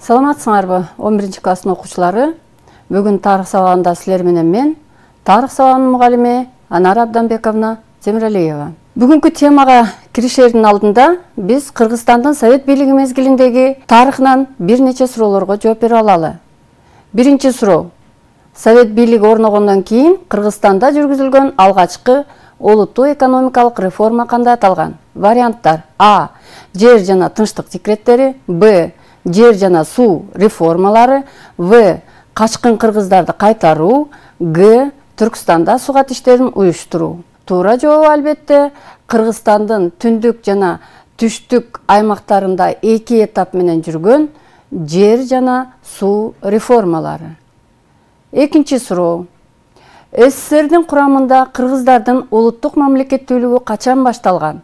Саламатсыңарбы 11 класстын окуучулары? Бүгүн тарых сабагында силер менен мен, тарых сабагынын мугалими Анара Абданбековна Темиралиева. Бүгүнкү темага киришердин алдында биз Кыргызстандын Совет бийлиги мезгилиндеги тарыхынан бир нече суроолорго жооп берип алалы. Биринчи суроо. Совет бийлиги орногондон кийин Кыргызстанда жүргүзүлгөн алгачкы олуттуу экономикалык реформа кандай аталган? Варианттар: А. Жер жана тынчтык декреттери, Б. Жер жана суу реформалары, В. Качкын кыргыздарды кайтаруу, Г. Түркстанда сугат иштерин уюштуруу. Туура жообу албетте Кыргызстандын түндүк жана түштүк аймактарында эки этап менен жүргөн жер жана суу реформалары. Экинчи суроо. СССРдин курамында кыргыздардын улуттук мамлекеттүүлүгү качан башталган?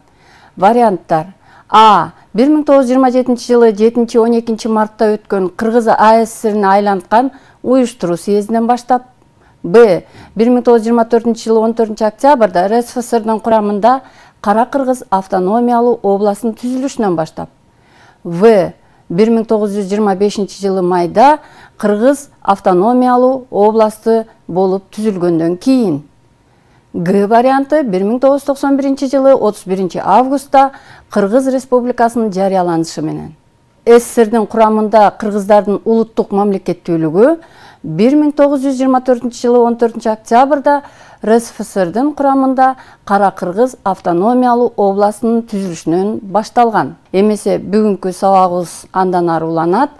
Варианттар: А. 1927 жылы 7-12 мартта өткөн Кыргыз АССРине айланткан уюштуруу съездинен баштап, Б. 1924 жылы 14 октябрда РСФСРдин курамында Кара Кыргыз автономиялуу областынын түзүлүшүнөн баштап, В. 1925 жылы майда Кыргыз автономиялуу областы болуп түзүлгөндөн кийин, Г варианты 1991 жылы 31 августта Кыргыз Республикасынын жарыяланышы менен. СССРдин курамында кыргыздардын улуттук мамлекеттүүлүгү 1924 жылы 14 октябрда РСФСРдин курамында Кара Кыргыз автономиялуу областынын түзүлүшүнөн башталган. Эмесе бүгүнкү сабагыбыз андан ары уланат.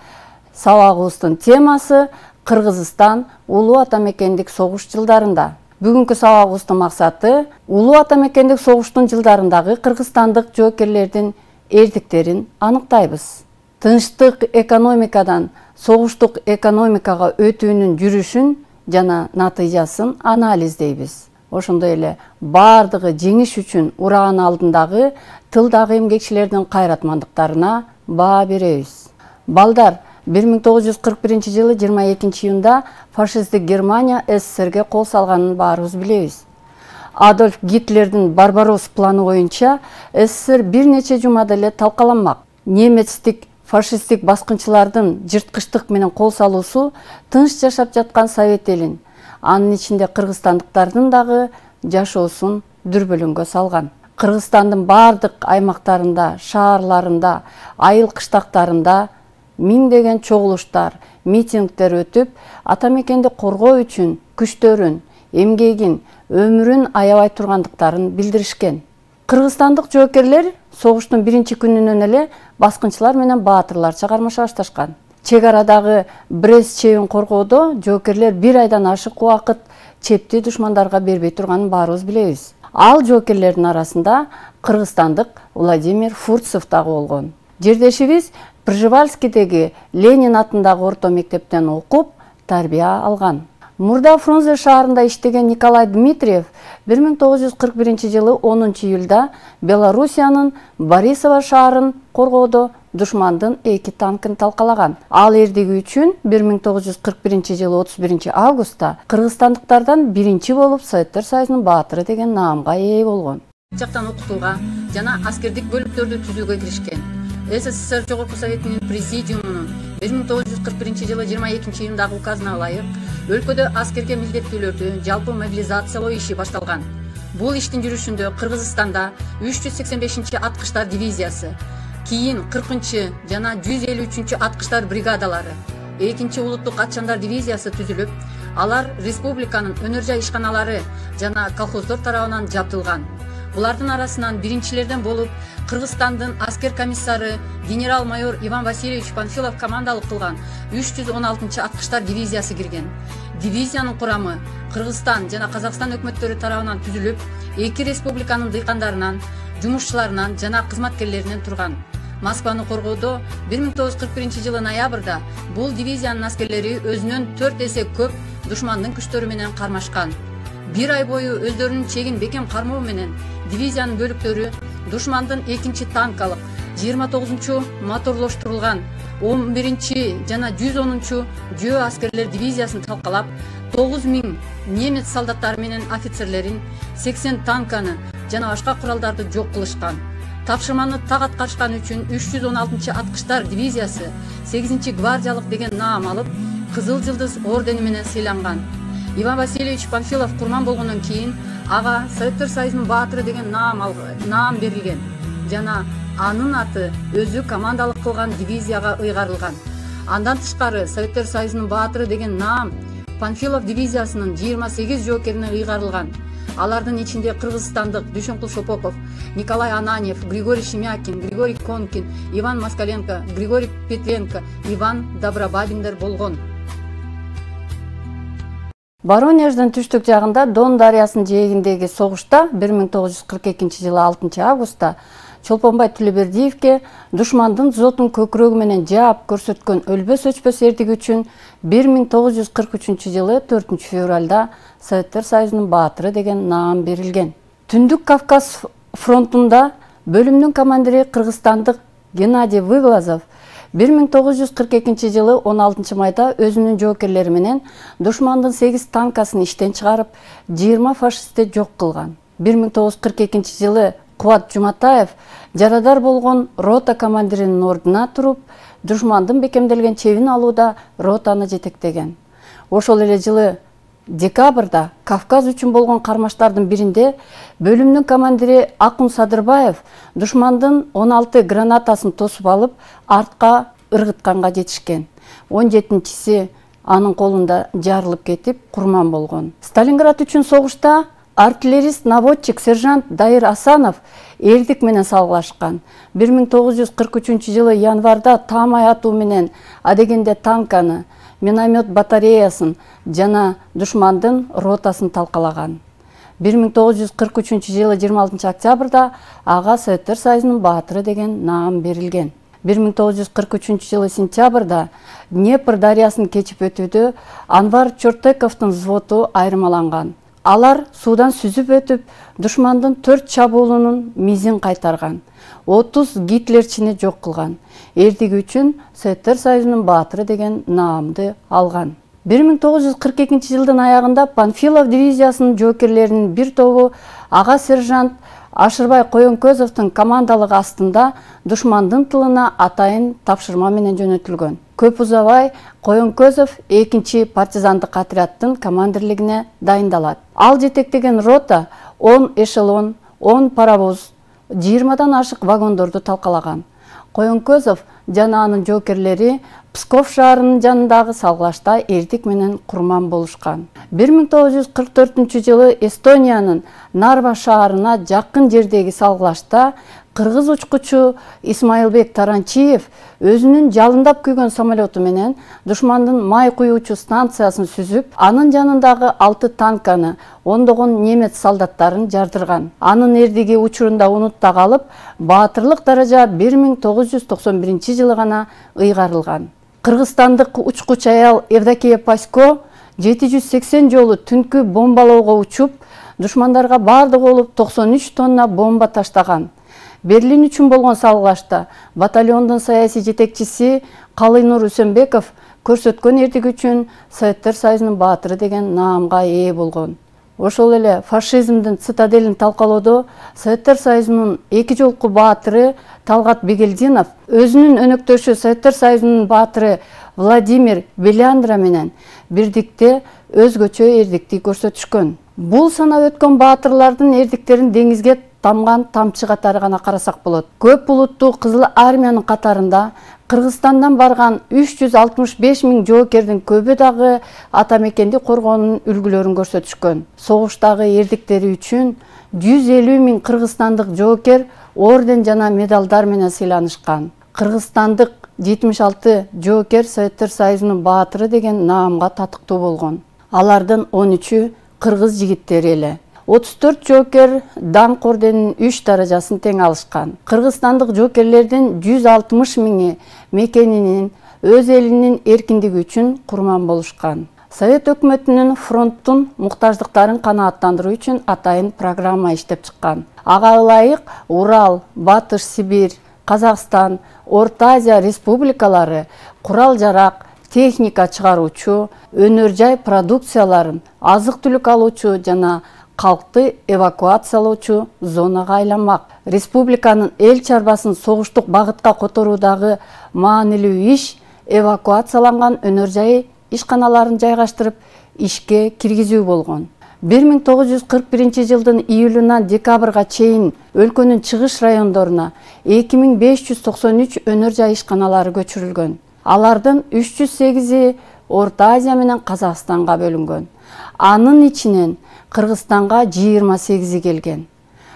Сабагыбыздын темасы Кыргызстан улуу ата мекендик согуш жылдарында. Бүгүнкү сабагыбыздын максаты улуу ата мекендик согуштун жылдарындагы кыргызстандык жоокерлердин эрдиктерин аныктайбыз. Тынчтык экономикадан согуштук экономикага өтүүнүн жүрүшүн жана натыйжасын анализдейбиз. Ошондой эле бардыгы жеңиш үчүн ураган алдындагы тылдагы эмгекчилердин кайратмандыктарына баа беребиз. Балдар, 1941 жылы 22 июнда фашисттик Германия СССРге кол салганын баарыбыз билебиз. Адольф Гитлердин Барбарос планы боюнча СССР бир нече жумада эле талкаланмак. Немецтик фашисттик баскынчылардын жырткычтык менен кол салуусу тынч жашап жаткан Совет элин, анын ичинде кыргызстандыктардын дагы жашоосун дүрбөлөңгө салган. Кыргызстандын бардык аймактарында, шаарларында, айыл кыштактарында миңдеген чогулуштар, митингдер өтүп, ата мекенди коргоо үчүн күчтөрүн, эмгегин, өмүрүн аябай тургандыктарын билдиришкен. Кыргызстандык жоокерлер согуштун биринчи күнүнөн эле баскынчылар менен баатырларча кармаша башташкан. Чек арадагы Брест чебин коргоодо жоокерлер бир айдан ашык убакыт чепти душмандарга бербей турганын баарыбыз билебиз. Ал жоокерлердин арасында кыргызстандык Владимир Фурцев дагы болгон. Жердешибиз Пржевальскийдеги Ленин атындагы орто мектептен окуп, тарбия алган. Мурда Фрунзе шаарында иштеген Николай Дмитриев 1941 жылы 10 июлда Белоруссиянын Борисово шаарын коргоодо душмандын 2 танкын талкалаган. Ал эрдиги үчүн 1941 жылы 31 августта кыргызстандыктардан биринчи болуп Советтер Союзунун баатыры деген наамга ээ болгон. Жактан окутууга жана аскердик бөлүктөрдү түзүүгө киришкен. СССР Жогорку Советинин президиумунун 1941 жылы 22 июндагы указына ылайык өлкөдө аскерге милдеттүүлөрдү жалпы мобилизациялоо иши башталган. Бул иштин жүрүшүндө Кыргызстанда 385 аткычтар дивизиясы, кийин 40 жана 153 аткычтар бригадалары, 2 улуттук атчандар дивизиясы түзүлүп, алар республиканын өнөр жай ишканалары жана колхоздор тарабынан жабдылган. Булардын арасынан биринчилерден болуп Кыргызстандын аскер комиссары генерал-майор Иван Васильевич Панфилов командалык кылган 316 аткычтар дивизиясы кирген. Дивизиянын курамы Кыргызстан жана Казакстан өкмөттөрү тарабынан түзүлүп, эки республиканын дыйкандарынан, жумушчуларынан жана кызматкерлеринен турган. Москваны коргоодо 1941 жылы ноябрда бул дивизиянын аскерлери өзүнөн 4 эсе көп душмандын күчтөрү менен кармашкан. Бир ай бою өздөрүнүн чегин бекем кармоо менен дивизиянын бөлүктөрү душмандын 2 танкалык, 29 моторлоштурулган, 11 жана 110 жөө аскерлер дивизиясын талкалап, 9000 немец солдаттары менен офицерлерин, 80 танканы жана башка куралдарды жок кылышкан. Тапшырманы так аткарышкан үчүн 316-аткычтар дивизиясы 8-гвардиялык деген наам алып, Кызыл Жылдыз ордени менен сыйланган. Иван Васильевич Панфилов курман болгондон кийин ага Советтер Союзунун баатыры деген наам берилген жана анын аты өзү командалык кылган дивизияга ыйгарылган. Андан тышкары Советтер Союзунун баатыры деген наам Панфилов дивизиясынын 28 жоокерине ыйгарылган. Алардын ичинде кыргызстандык Дүйшөнкул Шопоков, Николай Ананьев, Григорий Шемякин, Григорий Конкин, Иван Москаленко, Григорий Петренко, Иван Добробабиндер болгон. Воронеждин түштүк жагында Дон дарыясынын жээгиндеги согушта 1942-жылы 6-августта Чолпонбай Төлөбердиевке душмандын зотун көкүрөгү менен жаап көрсөткөн өлбөс өчпөс эрдиги үчүн 1943-жылы 4-февралда Советтер Союзунун баатыры деген наам берилген. Түндүк Кавказ фронтунда бөлүмдүн командири кыргызстандык Геннадий Выглазов 1942-жылы 16 майда өзүнүн жоокерлери менен душмандын 8 танкасын иштен чыгарып, 20 фашистти жок кылган. 1942-жылы Кубат Жуматаев жарадар болгон рота командиринин ордуна туруп, душмандын бекемделген чебин алууда ротаны жетектеген. Ошол эле жылы декабрда Кавказ үчүн болгон кармаштардын биринде бөлүмдүн командири Акун Садырбаев душмандын 16 гранатасын тосуп алып, артка ыргытканга жетишкен. 17-си анын колунда жарылып кетип, курман болгон. Сталинград үчүн согушта артиллерист наводчик сержант Дайыр Асанов эрдик менен салгылашкан. 1943-жылы январда таамай атуу менен адегенде танканы, миномет батареясын жана душмандын ротасын талкалаган. 1943-жылы 26 октябрда ага Советтер Союзунун баатыры деген наам берилген. 1943-жылы сентябрда Днепр дарыясын кечип өтүүдө Анвар Чортековдун взводу айырмаланган. Алар суудан сүзүп өтүп, душмандын 4 чабуулунун мизин кайтарган. 30 гитлерчини жок кылган. Эрдиги үчүн Советтер Союзунун баатыры деген наамды алган. 1942-жылдын аягында Панфилов дивизиясынын жоокерлеринин бир тобу ага сержант Ашырбай Коенкөзовдун командалыгы астында душмандын тылына атайын тапшырма менен жөнөтүлгөн. Көп узабай Коенкөзов 2-чи партизандык отряддын командирлигине дайындалат. Ал жетектеген рота 10 эшелон, 10 паровоз, 20-дан ашык вагондорду талкалаган. Коенкөзов жана анын жоокерлери Псков шаарынын жанындагы салгылашта эрдик менен курман болушкан. 1944-жылы Эстониянын Нарва шаарына жакын жердеги салгылашта кыргыз учкучу Исмаилбек Таранчиев өзүнүн жалындап күйгөн самолету менен душмандын май куюучу станциясын сүзүп, анын жанындагы 6 танканы, ондогон немец солдаттарын жардырган. Анын эрдиги учурунда унутта калып, баатырлык даража 1991-жылы гана ыйгарылган. Кыргызстандык учкуч аял Евдокия Пасько 780 жолу түнкү бомбалоого учуп, душмандарга бардыгы болуп 93 тонна бомба таштаган. Берлин үчүн болгон салгылашта батальондун саясий жетекчиси Калыйнур Үсөнбеков көрсөткөн эрдиги үчүн Советтер Союзунун баатыры деген наамга ээ болгон. Ошол эле фашизмдин цитаделин талкалоодо Советтер Союзунун 2 жолку баатыры Талгат Бегелдинов өзүнүн өнөктөшү Советтер Союзунун баатыры Владимир Беляндра менен бирдикте өзгөчө эрдикти көрсөтүшкөн. Бул санап өткөн баатырлардын эрдиктерин деңизге тамган тамчы катары гана карасак болот. Көп булуттуу Кызыл армиянын катарында Кыргызстандан барган 365 000 жоокердин көбү дагы ата мекенди коргоонун үлгүлөрүн көрсөтүшкөн. Согуштагы эрдиктери үчүн 150 000 кыргызстандык жоокер орден жана медалдар менен сыйланышкан. Кыргызстандык 76 жоокер Советтер Союзунун баатыры деген наамга татыктуу болгон. Алардын 13-ү кыргыз жигиттери эле. 34 жоокер даңк орденинин 3 даражасын тең алышкан. Кыргызстандык жоокерлердин 160 000 мекенинин өз элинин эркиндиги үчүн курман болушкан. Совет өкмөтүнүн фронттун муктаждыктарын канааттандыруу үчүн атайын программа иштеп чыккан. Ага ылайык Урал, Батыш Сибирь, Казакстан, Орто Азия республикалары курал-жарак, техника чыгаруучу, өнөр жай продукцияларын, азык-түлүк алуучу жана калкты эвакуациялоочу зонага айланмак. Республиканын эл чарбасын согуштук багытка которуудагы маанилүү иш эвакуацияланган өнөр жай ишканаларын жайгаштырып ишке киргизүү болгон. 1941 жылдын июлунан декабрга чейин өлкөнүн чыгыш райондоруна 2593 өнөр жай ишканалары көчүрүлгөн. Алардын 308-и Орто Азия менен Казакстанга бөлүнгөн. Анын ичинен Кыргызстанга 28 келген.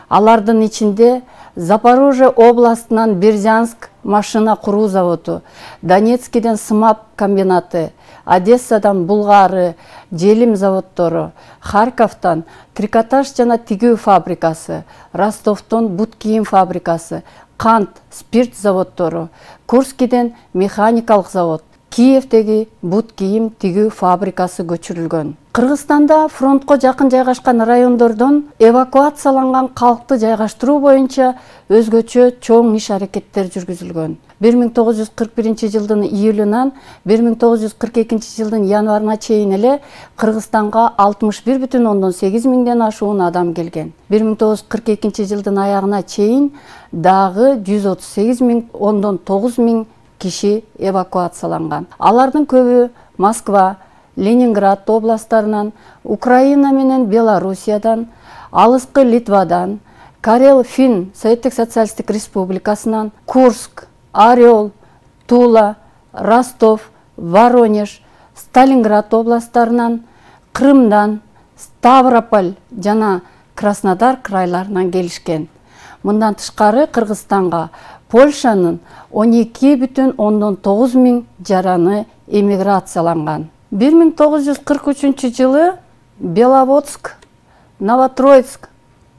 Алардын ичинде Запорожье областынан Бердянск машина куруу заводу, Донецкиден СМАП комбинаты, Одессадан Булгары, желим заводдору, Харьковтан трикотаж жана тигүү фабрикасы, Ростовтон бут кийим фабрикасы, кант, спирт заводдору, Курскиден механикалык завод, Киевдеги бут кийим тигүү фабрикасы көчүрүлгөн. Кыргызстанда фронтко жакын жайгашкан райондордон эвакуацияланган калкты жайгаштыруу боюнча өзгөчө чоң иш-аракеттер жүргүзүлгөн. 1941 жылдын июлунан 1942 жылдын январына чейин эле Кыргызстанга 61,8 миңден ашуун адам келген. 1942 жылдын аягына чейин дагы 138,9 миң киши эвакуацияланган. Алардын көбү Москва, Ленинград областтарынан, Украина менен Белоруссиядан, алыскы Литвадан, Карел-Фин Советтик социалисттик республикасынан, Курск, Орел, Тула, Ростов, Воронеж, Сталинград областтарынан, Крымдан, Ставрополь жана Краснодар крайларынан келишкен. Мындан тышкары Кыргызстанга Польшанын 12,9 миң жараны эмиграцияланган. 1943 жылы Беловодск, Новотроицк,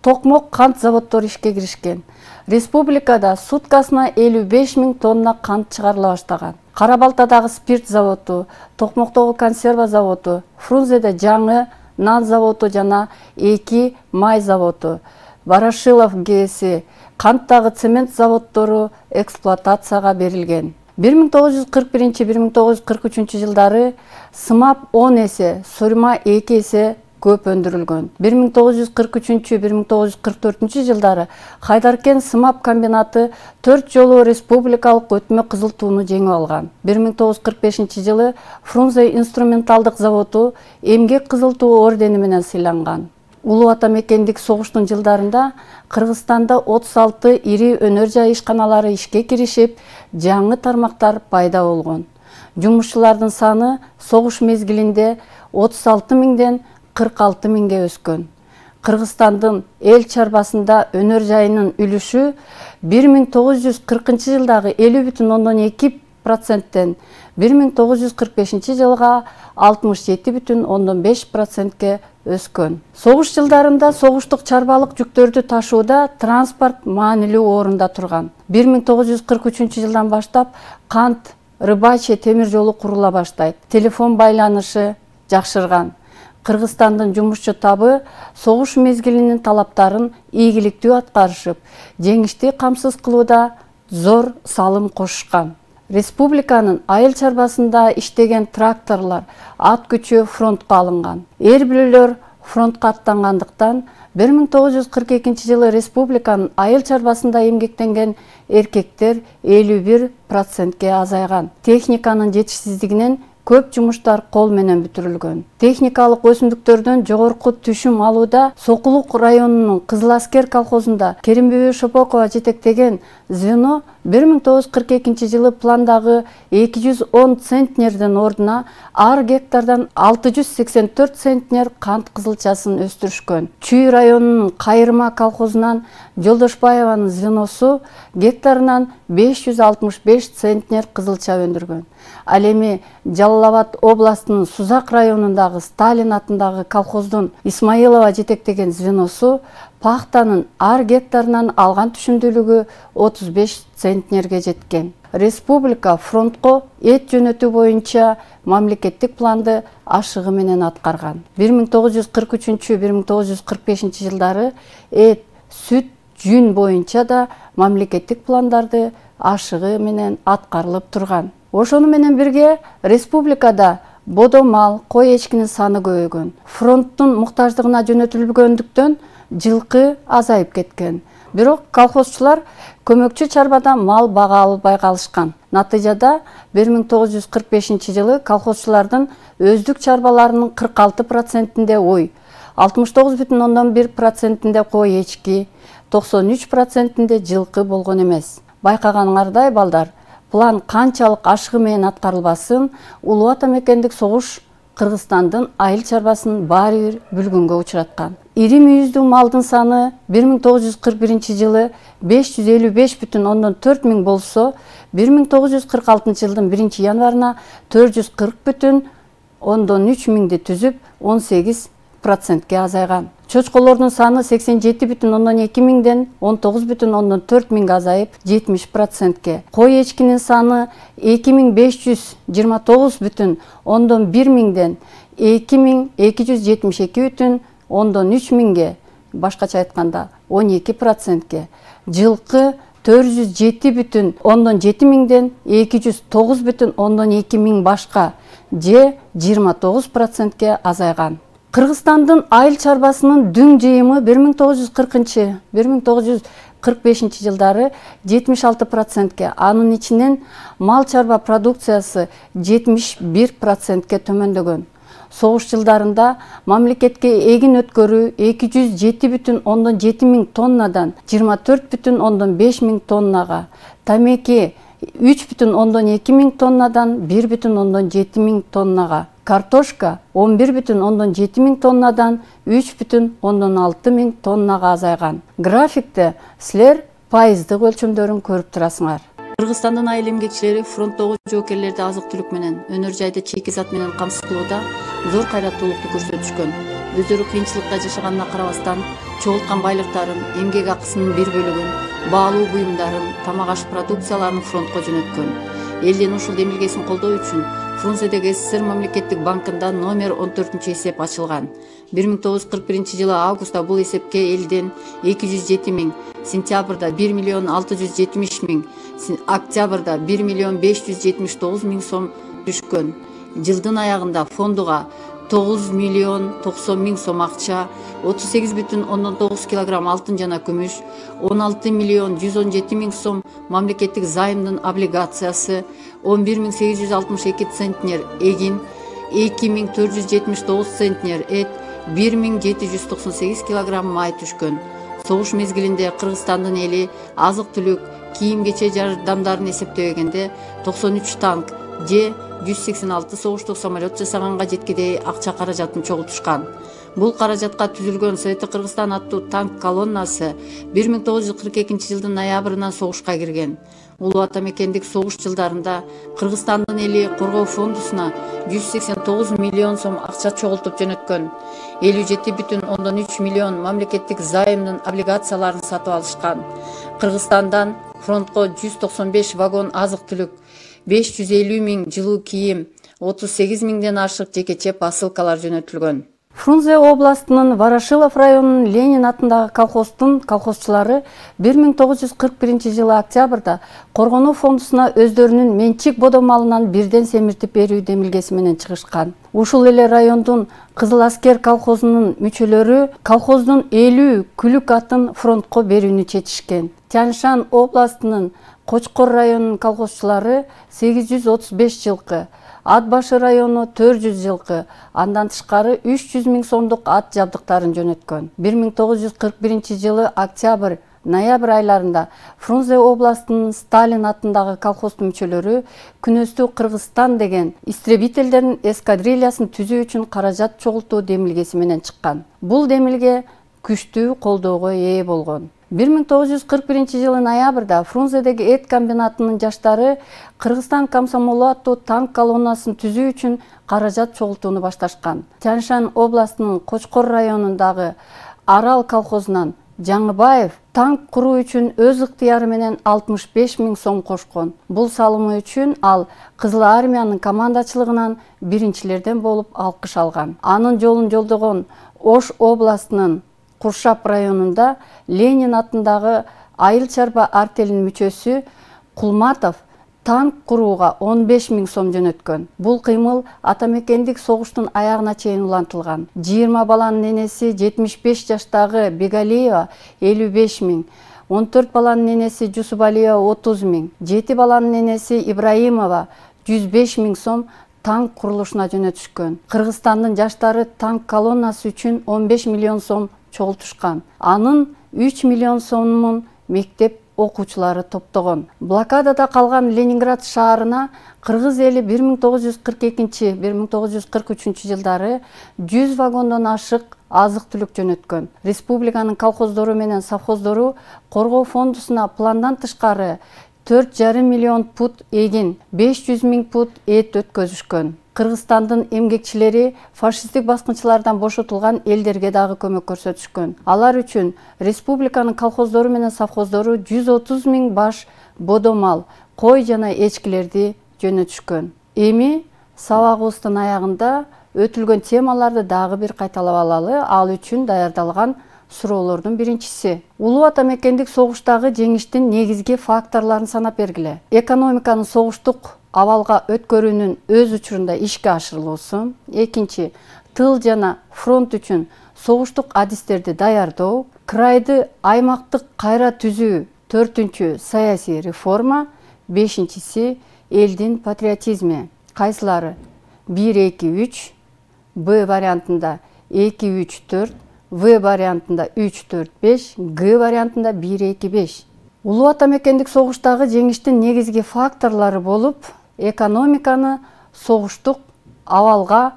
Токмок кант заводдору ишке киришкен. Республикада суткасына 55 миң тонна кант чыгарыла баштаган. Кара-Балтадагы спирт заводу, Токмоктогу консерва заводу, Фрунзеде жаңы нан заводу жана 2 май заводу, Ворошилов ГЭСи, канттагы цемент заводдору эксплуатацияга берилген. 1941-1943 жылдары СМАП 10 эсе, Сурма 2 эсе көп өндүрүлгөн. 1943-1944 жылдары Хайдаркен СМАП комбинаты 4 жолу республикалык өтмө кызыл тууну жеңип алган. 1945 жылы Фрунзе инструменталдык заводу эмгек кызыл туу ордени менен сыйланган. Улуу ата мекендик согуштун жылдарында Кыргызстанда 36 ири өнөр жай ишканалары ишке киришип, жаңы тармактар пайда болгон. Жумушчулардын саны согуш мезгилинде 36 миңден 46 миңге өскөн. Кыргызстандын эл чарбасында өнөр жайынын үлүшү 1940 жылдагы 50,2%тен 1945 жылга 67,5%ке өскөн. Согуш жылдарында согуштук чарбалык жүктөрдү ташууда транспорт маанилүү орунда турган. 1943 жылдан баштап кант, рыбачий темир жолу курула баштайт. Телефон байланышы жакшырган. Кыргызстандын жумушчу табы согуш мезгилинин талаптарын ийгиликтүү аткарышып, жеңишти камсыз кылууда зор салым кошушкан. Республиканын айыл чарбасында иштеген тракторлор, ат күчү фронтко алынган. Эр бүлөлөр фронтко аттангандыктан 1942 жылы республиканын айыл чарбасында эмгектенген эркектер 51%ке азайган. Техниканын жетишсиздигинен көп жумуштар кол менен бүтүрүлгөн. Техникалык өсүмдүктөрдөн жогорку түшүм алууда Сокулук районунун Кызыл Аскер колхозунда Керимбүбү Шопокова жетектеген звено 1942 жылы пландагы 210 центнерден ордуна ар гектардан 684 центнер кант кызылчасын өстүрүшкөн. Чүй районунун Кайырма колхозунан Жолдошбаеванын звеносу гектарынан 565 центнер кызылча өндүргөн. Ал эми Жалал-Абад областынын Сузак районундагы Сталин атындагы колхоздун Исмаилова жетектеген звеносу пахтанын ар гектарынан алган түшүмдүүлүгү 35 центнерге жеткен. Республика фронтко эт жөнөтүү боюнча мамлекеттик планды ашыгы менен аткарган. 1943-1945 жылдары эт, сүт, жүн боюнча да мамлекеттик пландарды ашыгы менен аткарылып турган. Ошону менен бирге республикада бодо мал, кой эчкинин саны көбөйгөн. Фронттун муктаждыгына жөнөтүлгөндүктөн жылкы азайып кеткен. Бирок колхозчулар көмөкчү чарбада мал бага албай калышкан. Натыйжада 1945 жылы колхозчулардын өздүк чарбаларынын 46%-inde ой, 69,1%-inde кой эчки, 93%-inde жылкы болгон эмес. Байкаганыңардай балдар, план канчалык ашыгы менен аткарылбасын, Улуу Ата мекендик согуш Кыргызстандын айыл чарбасын баары бир бүлгүнгө учураткан. Ири мүйүздүү малдын саны 1941 жылы 555,4 миң болсо, 1946 жылдын 1 январына 440,3 миңди түзүп, 18%ге азайган. Чочколордун саны 87,2 миңден 19,4 миңге азайып, 70%ге. Кой эчкинин саны 2529,1 миңден 2272,3 миңге, башкача айтканда 12%ге. Жылкы 407,7 миңден 209,2 миң башка, же 29%ге азайган. Кыргызстандын айыл чарбасынын дүң жыйымы 1940-1945 жылдары 76%ге, анын ичинен мал чарба продукциясы 71%ге төмөндөгөн. Согуш жылдарында мамлекетке эгин өткөрүү 207,7 миң тоннадан 24,5 миң тоннага, тамеки 3,2 миң тоннадан 1,7 миң тоннага, картошка 11,7 миң тоннадан 3,6 миң тоннага азайган. Графикте силер пайыздык өлчөмдөрүн көрүп турасыңар. Кыргызстандын айыл эмгекчилери фронттогу жоокерлерди азык-түлүк менен, өнөр жайды чийки зат менен камсыз кылууда зор кайраттуулукту көрсөтүшкөн. Өздөрү кыйынчылыкта жашаганына карабастан, чогулткан байлыктарын, эмгек акысынын бир бөлүгүн, баалуу буюмдарын, тамак аш продукцияларын фронтко жөнөткөн. Элдин ушул демилгесин колдоо үчүн Фрунзедеги СССР мамлекеттик банкында номер 14 эсеп ачылган. 1941 жылы августта бул эсепке элден 207 миң, сентябрда 1 миллион 670 миң, октябрда 1 миллион 579 миң сом түшкөн. Жылдын аягында фондуга 9 миллион 90 миң сом акча, 38,9 килограмм алтын жана күмүш, 16 миллион 117 миң сом мамлекеттик займдын облигациясы, 11,862 центнер эгин, 2,479 центнер эт, 1,798 килограмм май түшкөн. Согуш мезгилинде Кыргызстандын эли азык-түлүк, кийим-кече жардамдарын эсептегенде 93 танк же 186 согуштук самолет жасаганга жеткидей акча каражатын чогултушкан. Бул каражатка түзүлгөн Совети Кыргызстан аттуу танк колоннасы 1942 жылдын ноябрынан согушка кирген. Улуу Ата мекендик согуш жылдарында Кыргызстандын эли коргоо фондусуна 189 миллион сом акча чогултуп жөнөткөн. 57,3 миллион мамлекеттик займдын облигацияларын сатып алышкан. Кыргызстандан фронтко 195 вагон азык-түлүк, 550 миң жылуу кийим, 38 миңден ашык жекече посылкалар жөнөтүлгөн. Фрунзе областынын Ворошилов районунун Ленин атындагы колхоздун колхозчулары 1941 жылы октябрда коргонуу фондусуна өздөрүнүн менчик бодо малынан бирден семиртип берүү демилгеси менен чыгышкан. Ушул эле райондун Кызыл Аскер колхозунун мүчөлөрү колхоздун 50 күлүк атын фронтко берүүнү чечишкен. Тянь-Шань областынын Кочкор районунун колхозчулары 835 жылкы, Ат башы району 400 жылкы, андан тышкары 300 миң сомдук ат жабдыктарын жөнөткөн. 1941 жылы октябрь-ноябрь айларында Фрунзе областынын Сталин атындагы колхоздун мүчөлөрү Күнөстүү Кыргызстан деген истребительдердин эскадрильясын түзүү үчүн каражат чогултуу демилгеси менен чыккан. Бул демилге күчтүү колдоого ээ болгон. 1941 жылы ноябрда Фрунзедеги эт комбинатынын жаштары Кыргызстан комсомолу аттуу танк колоннасын түзүү үчүн каражат чогултууну башташкан. Тянь-Шань областынын Кочкор районундагы Арал колхозунан Жаңыбаев танк куруу үчүн өз ыктыяры менен 65 миң сом кошкон. Бул салымы үчүн ал Кызыл армиянын командачылыгынан биринчилерден болуп алкыш алган. Анын жолун жолдогон Ош областынын Куршап районунда Ленин атындагы айыл чарба артелинин мүчөсү Кулматов танк курууга 15 000 сом жөнөткөн. Бул кыймыл ата мекендик согуштун аягына чейин улантылган. 20 баланын энеси 75 жаштагы Бегалиева 55 000, 14 баланын энеси Жусубалиева 30 000, 7 баланын энеси Ибраимова 105 000 сом танк курулушуна жөнөтүшкөн. Кыргызстандын жаштары танк колоннасы үчүн 15 миллион сом чогултушкан. Анын 3 миллион сомун мектеп окуучулары топтогон. Блокадада калган Ленинград шаарына кыргыз эли 1942-1943 жылдары 100 вагондон ашык азык-түлүк жөнөткөн. Республиканын колхоздору менен совхоздору коргоо фондусуна пландан тышкары 4,5 миллион пут эгин, 500 000 пут эт өткөзүшкөн. Кыргызстандын эмгекчилери фашисттик баскынчылардан бошотулган элдерге дагы көмөк көрсөтүшкөн. Алар үчүн республиканын колхоздору менен совхоздору 130 000 баш бодомал, кой жана эчкилерди жөнөтүшкөн. Эми сабагыбыздын аягында өтүлгөн темаларды дагы бир кайталап алалы. Ал үчүн даярдалган суроолордун биринчиси: улуу ата мекендик согуштагы жеңиштин негизги факторлорун санап бергиле. Экономиканы согуштук абалга өткөрүүнүн өз учурунда ишке ашырылуусу. Экинчи, тыл жана фронт үчүн согуштук адистерди даярдоо. Крайды аймактык кайра түзүү. Төртүнчү, саясий реформа. Бешинчиси, элдин патриотизми. Кайсылары? 1-2-3, Б вариантында 2-3-4, В вариантында 3-4-5, Г вариантында 1-2-5. Улуу ата мекендик согуштагы жеңиштин негизги факторлору болуп, экономиканы согуштук абалга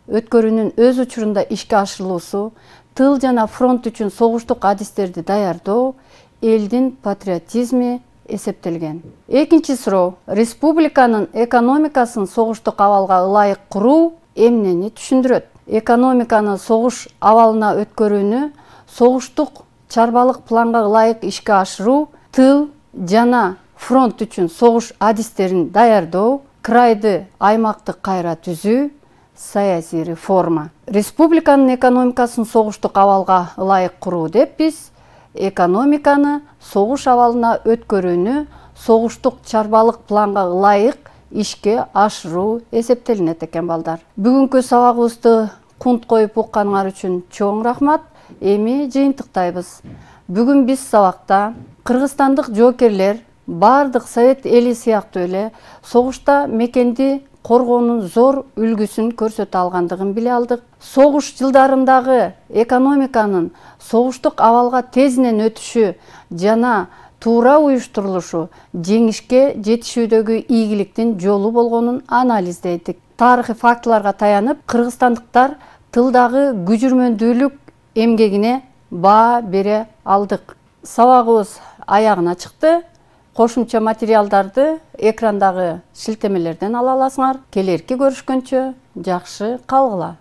өткөрүүнүн өз учурунда ишке ашырылуусу, тыл жана фронт үчүн согуштук адистерди даярдоо, элдин патриотизми эсептелген. Экинчи суроо: республиканын экономикасын согуштук абалга ылайык куруу эмнени түшүндүрөт? Экономиканы согуш абалына өткөрүүнү согуштук чарбалык планга ылайык ишке ашыруу, тыл жана фронт үчүн согуш адистерин даярдоо, крайды аймактык кайра түзүү, саясий реформа. Республиканын экономикасын согуштук абалга ылайык куруу деп биз экономиканы согуш абалына өткөрүүнү согуштук чарбалык планга ылайык ишке ашыруу эсептелинет экен балдар. Бүгүнкү сабагыбызды кунт коюп укканыңар үчүн чоң рахмат. Эми жыйынтыктайбыз. Бүгүн биз сабакта кыргызстандык жоокерлер бардык совет эли сыяктуу эле согушта мекенди коргоонун зор үлгүсүн көрсөтө алгандыгын биле алдык. Согуш жылдарындагы экономиканын согуштук абалга тезинен өтүшү жана туура уюштурулушу жеңишке жетишүүдөгү ийгиликтин жолу болгонун анализдедик. Тарыхый фактыларга таянып, кыргызстандыктар тылдагы күжүрмөндүүлүк эмгегине баа бере алдык. Сабагыбыз аягына чыкты. Кошумча материалдарды экрандагы шилтемелерден ала аласыңар. Келерки көрүшкөнчө жакшы калгыла.